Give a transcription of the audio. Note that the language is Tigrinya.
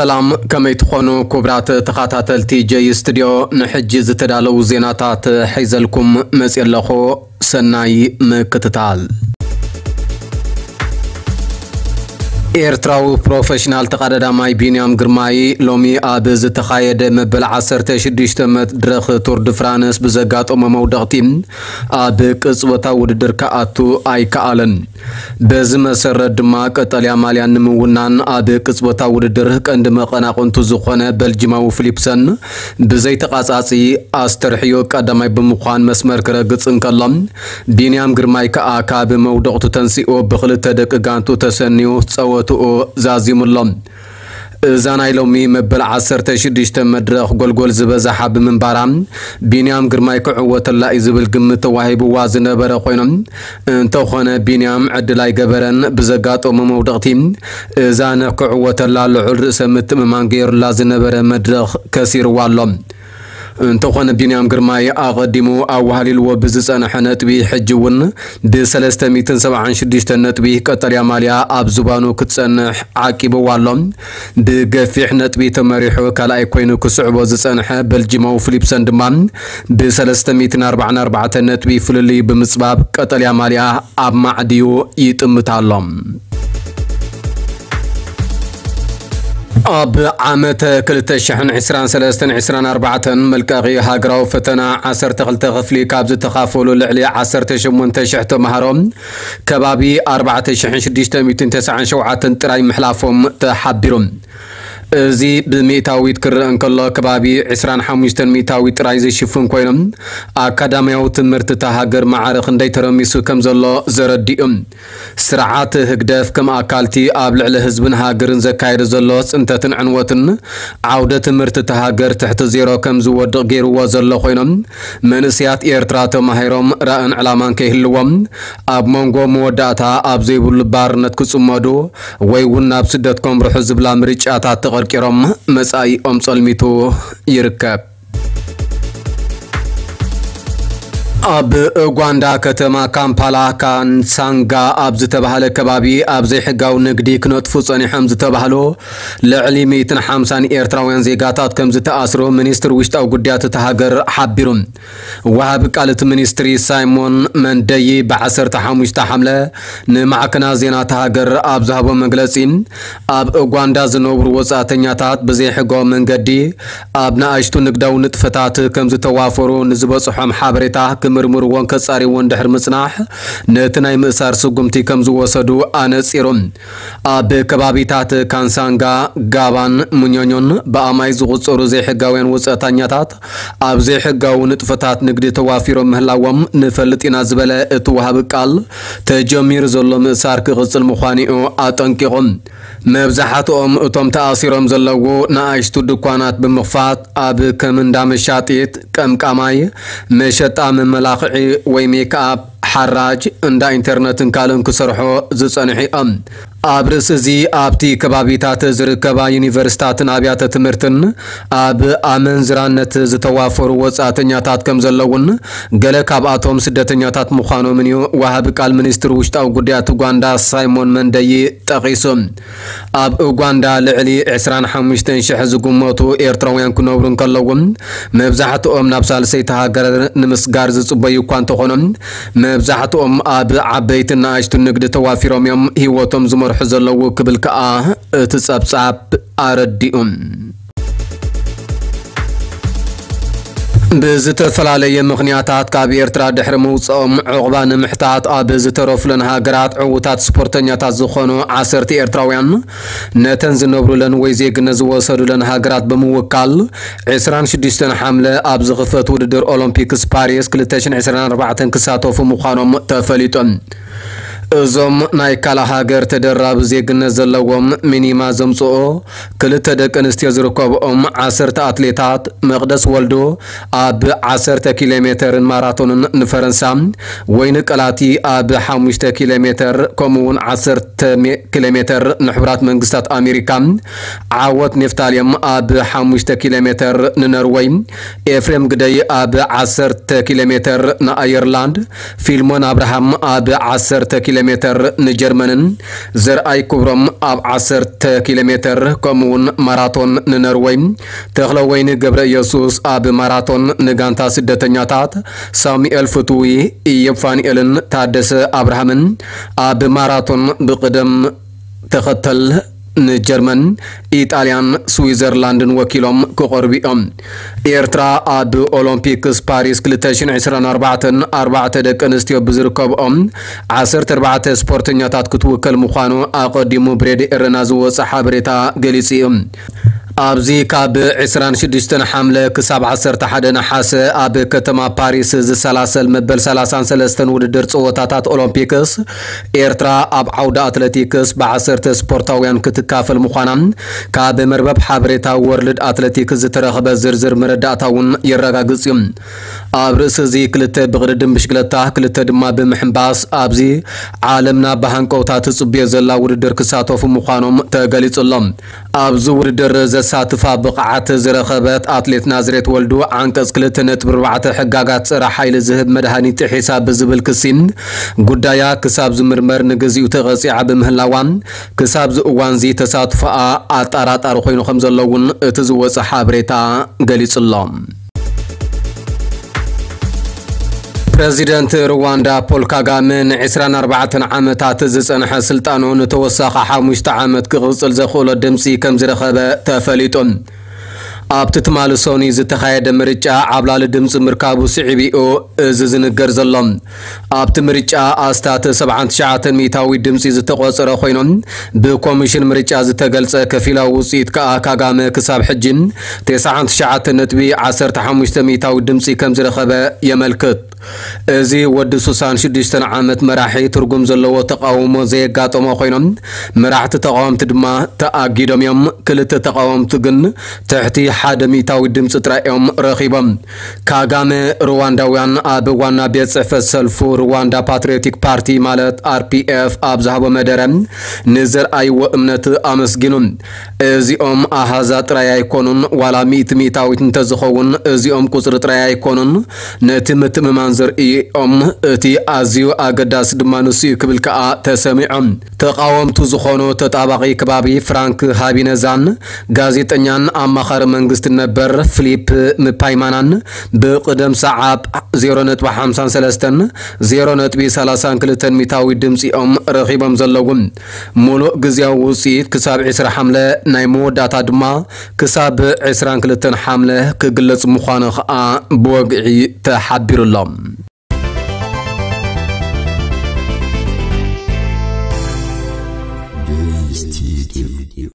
ሰላም፣ ከመይ ትኾኑ ክቡራት ተኸታተልቲ ጀይ ስቱድዮ? ንሕጂ ዝተዳለዉ ዜናታት ሒዘልኩም መፅየ ኣለኹ። ሰናይ ምክትታል። ኤርትራዊ ፕሮፌሽናል ተቐዳዳማይ ቢንያም ግርማይ ሎሚ ኣብ ዝተኻየደ መበል ዓሰርተ ሽዱሽተ መድረኽ ቱር ድ ፍራንስ ብዘጋጠሞ መውደቕቲ ኣብ ቅጽበታዊ ውድድር ክኣቱ ኣይከኣለን። በዚ መሰረት ድማ ቀጠልያ ማልያ ንምውናን ኣብ ቅጽበታዊ ውድድር ቀንዲ መቐናቕንቱ ዝኾነ በልጂማዊ ፊሊፕሰን ብዘይተቓጻጺ ኣስተርሕዮ ቀዳማይ ብምዃን መስመር ክረግጽ እንከሎ፣ ቢንያም ግርማይ ከኣ ካብ መውደቕቱ ተንሲኡ ብኽልተ ደቂ ጋንቱ ተሰንዩ ጸወትኡ ዛዚሙ ኣሎ። እዛ ናይ ሎሚ መበል ዓሰርተ ሽዱሽተ መድረኽ ጎልጎል ዝበዝሓ ብምንባራ፣ ቢንያም ግርማይ ክዕወተላ እዩ ዝብል ግምት ተዋሂብዋ ዝነበረ ኮይኖም፣ እንተኾነ ቢንያም ዕድል ኣይገበረን። ብዘጋጠሞ መውደቕቲ እዛ ንክዕወተላ ልዑል ርእሰ ምትእምማን ገይሩላ ዝነበረ መድረኽ ከሲርዋ ኣሎ። እንተኾነ ቢንያም ግርማይ ኣቐዲሙ ኣዋህሊልዎ ብዝጸንሐ ነጥቢ፣ ሕጂ እውን ብሰለስተ ሚእትን ሰብዓን ሽዱሽተ ነጥቢ ቀጠልያ ማልያ ኣብ ዝባኑ ክትጸንሕ ዓቂብዋ ኣሎ። ብገፊሕ ነጥቢ ተመሪሑ ካልኣይ ኮይኑ ክስዕቦ ዝጸንሐ በልጂማዊ ፊሊፕሰን ድማ ብሰለስተ ሚእትን ኣርባዓን ኣርባዕተን ነጥቢ ፍልልዩ ብምጽባብ ቀጠልያ ማልያ ኣብ ማዕድዩ ይጥምት ኣሎ። ኣብ ዓመተ ክልተ ሽሕን ዕስራን ሰለስተን ዕስራን ኣርባዕተን መልቀቒ ሃገራዊ ፈተና ዓሰርተ ክልተ ክፍሊ ካብ ዝተኻፈሉ ልዕሊ ዓሰርተ ሸሞንተ ሽሕ ተምሃሮ ከባቢ ኣርባዕተ ሽሕን ሽዱሽተ ሚእትን ተስዓን ሸውዓተን ጥራይ ምሕላፎም ተሓቢሩ። እዚ ብሚእታዊት ክረአ እንከሎ ከባቢ ዕስራን ሓሙሽተን ሚእታዊት ጥራይ ዝሽፍን ኮይኖም ኣካዳሚያዊ ትምህርቲ እታ ሃገር ማዕረ ክንደይ ተረሚሱ ከም ዘሎ ዘረድእ እዩ። ስርዓት ህግደፍ ከም ኣካልቲ ኣብ ልዕሊ ህዝብን ሃገርን ዘካየዶ ዘሎ ጽንተትን ዕንወትን ዓውደ ትምህርቲ እታ ሃገር ትሕቲ ዜሮ ከም ዝወድቕ ገይርዎ ዘሎ ኮይኖም፣ መንእሰያት ኤርትራ ተማሂሮም ራእን ዕላማን ከይህልዎም ኣብ መንጎ መወዳእታ ኣብ ዘይብሉ ባርነት ክጽመዱ ወይ እውን ናብ ስደት ከምርሑ ዝብላ ምርጫታት ተቐርቂሮም መጻኢኦም ጸልሚቱ ይርከብ። ኣብ ኡጋንዳ ከተማ ካምፓላ ካንሳንጋ ኣብ ዝተባህለ ከባቢ ኣብ ዘይሕጋዊ ንግዲ ክነጥፉ ጸኒሖም ዝተባህሉ ልዕሊ ሚእትን ሓምሳን ኤርትራውያን ዜጋታት ከም ዝተኣስሩ ሚኒስትሪ ውሽጣዊ ጉዳያት እታ ሃገር ሓቢሩ። ወሃቢ ቃል እቲ ሚኒስትሪ ሳይሞን መንደይ ብዓሰርተ ሓሙሽተ ሓምለ ንማዕከናት ዜና እታ ሃገር ኣብ ዝሃቦ መግለጺ፣ ኣብ ኡጋንዳ ዝነብሩ ወጻእተኛታት ብዘይሕጋዊ መንገዲ ኣብ ንኣሽቱ ንግዳዊ ንጥፈታት ከም ዝተዋፈሩ ንዝበጽሖም ሓበሬታ ክምርምርዎን ከጻርይዎን ድሕሪ ምጽናሕ፣ ነቲ ናይ ምእሳር ስጉምቲ ከም ዝወሰዱ ኣነጺሩ። ኣብ ከባቢታት ካንሳንጋ፣ ጋባን ሙኞኞን ብኣማይ ዝቑጸሩ ዘይሕጋውያን ወጻእተኛታት ኣብ ዘይሕጋዊ ንጥፈታት ንግዲ ተዋፊሮም ምህላዎም ንፈልጥ ኢና ዝበለ እቲ ወሃቢ ቃል፣ ተጀሚሩ ዘሎ ምእሳር ክቕጽል ምዃኑ'ዩ ኣጠንቂቑ። መብዛሕትኦም እቶም ተኣሲሮም ዘለዉ ንኣሽቱ ድኳናት ብምኽፋት ኣብ ከም እንዳ መሻጢት፣ ቀምቃማይ፣ መሸጣ መመላኽዒ ወይ ሜክኣፕ፣ ሓራጅ፣ እንዳ ኢንተርነትን ካልእን ክሰርሑ ዝጸንሑ እዮም። ኣብ ርእሲ እዚ ኣብቲ ከባቢታት ዝርከባ ዩኒቨርሲታትን ኣብያተ ትምህርትን ኣብ ኣመንዝራነት ዝተዋፈሩ ወጻእተኛታት ከም ዘለውን ገለ ካብኣቶም ስደተኛታት ምዃኖምን እዩ ወሃቢ ቃል ሚኒስትሪ ውሽጣዊ ጉዳያት ኡጋንዳ ሳይሞን መንደይ ጠቒሱ። ኣብ ኡጋንዳ ልዕሊ ዕስራን ሓሙሽተን ሽሕ ዝግመቱ ኤርትራውያን ክነብሩ እንከለዉ፣ መብዛሕትኦም ናብ ሳልሰይቲ ሃገር ንምስጋር ዝጽበዩ እኳ እንተኾኑ፣ መብዛሕትኦም ኣብ ዓበይትን ንኣሽቱን ንግዲ ተዋፊሮም እዮም ህይወቶም ዝመርሑ ዘለዉ ክብል ከኣ እቲ ጸብጻብ ኣረዲኡ። ብዝተፈላለየ ምኽንያታት ካብ ኤርትራ ድሕሪ ምውጽኦም ዑቕባ ንምሕታት ኣብ ዝተረፉለን ሃገራት ዕዉታት ስፖርተኛታት ዝኾኑ ዓሰርተ ኤርትራውያን ነተን ዝነብሩለን ወይ ዜግነት ዝወሰዱለን ሃገራት ብምውካል ዕስራን ሽዱሽተን ሓምለ ኣብ ዝኽፈት ውድድር ኦሎምፒክስ ፓሪስ ክልተ ሽሕን ዕስራን ኣርባዕተን ክሳተፉ ምዃኖም ተፈሊጡ። እዞም ናይ ካልእ ሃገር ተደራቢ ዜግነት ዘለዎም ሚኒማ ዘምጽኦ ክልተ ደቂ ኣንስትዮ ዝርከብኦም ዓሰርተ ኣትሌታት፣ መቕደስ ወልዱ ኣብ ዓሰርተ ኪሎ ሜተርን ማራቶንን ንፈረንሳ፣ ወይኒ ቀላቲ ኣብ ሓሙሽተ ኪሎ ሜተር፣ ከምኡ እውን ዓሰርተ ኪሎ ሜተር ንሕቡራት መንግስታት ኣሜሪካ፣ ዓወት ኔፍታልየም ኣብ ሓሙሽተ ኪሎ ሜተር ንነርወይ፣ ኤፍሬም ግደይ ኣብ ዓሰርተ ኪሎ ሜተር ንኣየርላንድ፣ ፊልሞን ኣብርሃም ኣብ ዓሰርተ ኪሎ ሜተር ንጀርመንን፣ ዘርኣይ ክብሮም ኣብ ዓሰርተ ኪሎ ሜተር፣ ከምኡውን ማራቶን ንነርወይ፣ ተኽለወይኒ ገብረ ኢየሱስ ኣብ ማራቶን ንጋንታ ስደተኛታት፣ ሳሙኤል ፍትዊ፣ ኢዮብ ፋንኤልን ታደሰ ኣብርሃምን ኣብ ማራቶን ብቕደም ተኸተል ንጀርመን፣ ኢጣልያን ስዊዘርላንድን ወኪሎም ክቐርቡ እዮም። ኤርትራ ኣብ ኦሎምፒክስ ፓሪስ ክልተ ሽሕን ዕስራን ኣርባዕተን ኣርባዕተ ደቂ ኣንስትዮ ብዝርከብኦም ዓሰርተ ኣርባዕተ ስፖርተኛታት ክትውከል ምዃኑ ኣቐዲሙ ብሬድዮ ኤረና ዝወጸ ሓበሬታ ገሊጹ እዩ። ኣብዚ ካብ ዕስራን ሽዱሽተን ሓምለ ክሳብ ዓሰርተ ሓደ ነሓሰ ኣብ ከተማ ፓሪስ ዝሰላሰል መበል ሰላሳን ሰለስተን ውድድር ጸወታታት ኦሎምፒክስ ኤርትራ ኣብ ዓውዲ ኣትሌቲክስ ብዓሰርተ ስፖርታውያን ክትካፈል ምዃና ካብ መርበብ ሓበሬታ ወርልድ ኣትሌቲክስ ዝተረኽበ ዝርዝር መረዳእታ እውን የረጋግጽ እዩ። ኣብ ርእሲ እዚ ክልተ ብቕድድም ብሽክለታ፣ ክልተ ድማ ብምሕንባስ ኣብዚ ዓለምና ብሃንቀውታ ትጽብዮ ዘላ ውድድር ክሳተፉ ምዃኖም ተገሊጹ ኣሎ። ኣብዚ ውድድር ዘሳትፋ ብቕዓት ዝረኸበት ኣትሌት ናዝሬት ወልዱ ዓንቀጽ ክልተ ነጥቢ ኣርባዕተ ሕጋጋት ጸረ ሓይሊ ዝህብ መድሃኒት ጥሒሳ ብዝብል ክሲ ጉዳያ ክሳብ ዝምርመር ንግዚኡ ተቐጺዓ ብምህላዋ፣ ክሳብዚ እዋንዚ ተሳትፎኣ ኣጠራጣሪ ኮይኑ ከም ዘሎ እውን እቲ ዝወጸ ሓበሬታ ገሊጹ ኣሎ። ፕረዚደንት ሩዋንዳ ፖል ካጋመ ንዕስራን ኣርባዕተን ዓመታት ዝጸንሐ ስልጣኑ ንተወሳኺ ሓሙሽተ ዓመት ክቕጽል ዘኽእሎ ድምጺ ከም ዝረኸበ ተፈሊጡ። ኣብቲ ትማሊ ሰኑይ ዝተኻየደ ምርጫ ዓብላሊ ድምጺ ምርካቡ ስዒቡ እዩ እዚ ዝንገር ዘሎ። ኣብቲ ምርጫ ኣስታት ሰብዓን ትሽዓተን ሚእታዊ ድምጺ ዝተቖጸረ ኮይኖም፣ ብኮሚሽን ምርጫ ዝተገልጸ ከፊላዊ ውጽኢት ከኣ ካጋመ ክሳብ ሕጂ ተስዓን ትሽዓተን ነጥቢ ዓሰርተ ሓሙሽተ ሚእታዊ ድምጺ ከም ዝረኸበ የመልክት። እዚ ወዲ ሱሳን ሽዱሽተን ዓመት መራሒ ትርጉም ዘለዎ ተቃውሞ ዘየጋጠሞ ኮይኖም፣ መራሕቲ ተቃወምቲ ድማ ተኣጊዶም እዮም። ክልተ ተቃወምቲ ግን ትሕቲ ሓደ ሚእታዊ ድምፂ ጥራይ እዮም ረኺቦም። ካጋመ ሩዋንዳውያን ኣብ ዋና ቤት ጽሕፈት ሰልፉ ሩዋንዳ ፓትሪዮቲክ ፓርቲ ማለት ኣር ፒ ኤፍ ኣብ ዝሃቦ መደረ ንዘርኣይዎ እምነት ኣመስጊኑ። እዚኦም ኣሃዛት ጥራይ ኣይኮኑን፣ ዋላ ሚእቲ ሚእታዊት እንተዝኸውን እዚኦም ቁጽሪ ጥራይ ኣይኮኑን፣ ነቲ ምትእምማን ዘርእዮም እቲ ኣዝዩ ኣገዳሲ ድማ ንሱ እዩ ክብል ከኣ ተሰሚዖም። ተቓወምቱ ዝኾኑ ተጣባቒ ከባቢ ፍራንክ ሃቢነዛን ጋዜጠኛን ኣማኻሪ መንግስቲ ነበር ፊሊፕ ምፓይማናን ብቕደም ሰዓብ ዜሮ ነጥቢ ሓምሳን ሰለስተን ዜሮ ነጥቢ ሰላሳን ክልተን ሚእታዊ ድምፂኦም ረኺቦም ዘለዉ። ሙሉእ ግዜያዊ ውፅኢት ክሳብ ዕስራ ሓምለ ናይ መወዳእታ ድማ ክሳብ ዕስራን ክልተን ሓምለ ክግለጽ ምዃኑ ኸኣ ብወግዒ ተሓቢሩ ኣሎ።